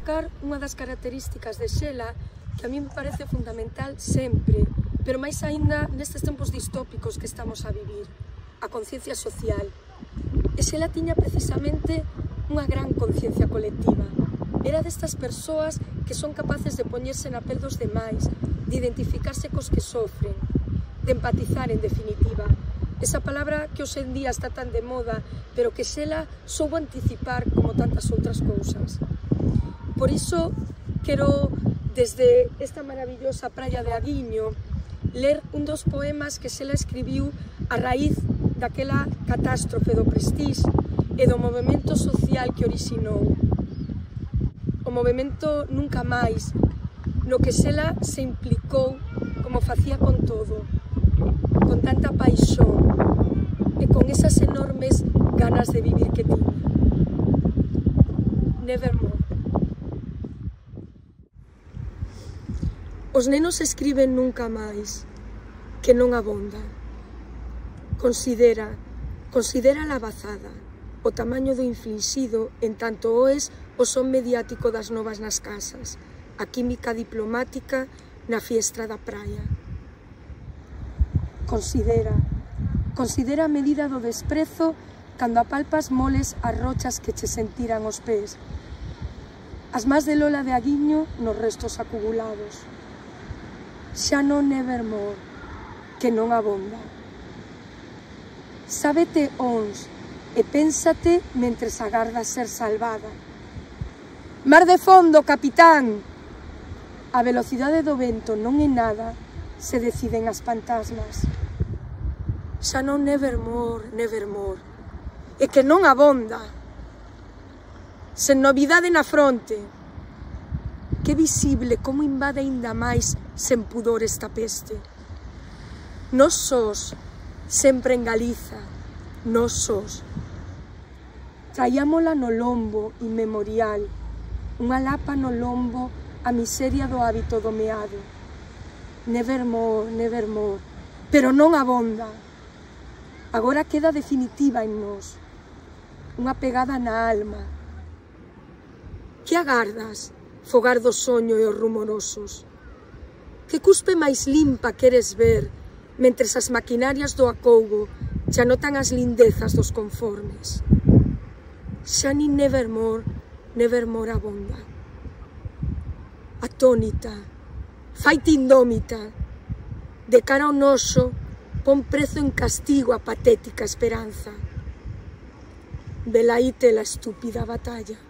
destacar unha das características de Xela que a mí me parece fundamental sempre, pero máis aínda nestes tempos distópicos que estamos a vivir, a conciencia social. E Xela tiña precisamente unha gran conciencia colectiva. Era destas persoas que son capaces de poñerse na pel dos demais, de identificarse cos que sofren, de empatizar en definitiva. Esa palabra que hoxe en día está tan de moda, pero que Xela soubo anticipar como tantas outras cousas. Por iso, quero, desde esta maravillosa praia de Aguiño, ler un dos poemas que Xela escribiu a raíz daquela catástrofe do Prestige e do movemento social que orixinou. O movemento Nunca Máis, no que Xela se implicou como facía con todo, con tanta paixón e con esas enormes ganas de vivir que tiña. Nevermore. Os nenos escriben nunca máis, que non abonda. Considera a labazada, o tamaño do inflixido en tanto oes o son mediático das novas nas casas, a química diplomática na fiestra da praia. Considera a medida do desprezo cando apalpas moles as rochas que che sentiran os pés, as más de Lola de Aguiño nos restos acumulados. Xa non nevermore, que non abonda. Sábete ons e pénsate mentres agardas ser salvada. Mar de fondo, capitán! A velocidade do vento non é nada se deciden as fantasmas. Xa non nevermore, nevermore, e que non abonda. Sen novidade na fronte, que visible como invade aínda máis sen pudor esta peste. Nós sós, sempre en Galiza, nós sós. Traíamola no lombo inmemorial, unha lapa no lombo a miseria do hábito domeado. Nevermore, nevermore, pero non abonda. Agora queda definitiva en nós, unha pegada na alma. Que agardas, fogar do soño e os rumorosos? Que cuspe máis limpa queres ver, mentres as maquinarias do acougo xa notan as lindezas dos conformes? Xa nin nevermore, nevermore abonda. Atónita, faite indómita, de cara ao noso, pon prezo en castigo a patética esperanza. Velaíte la estúpida batalla.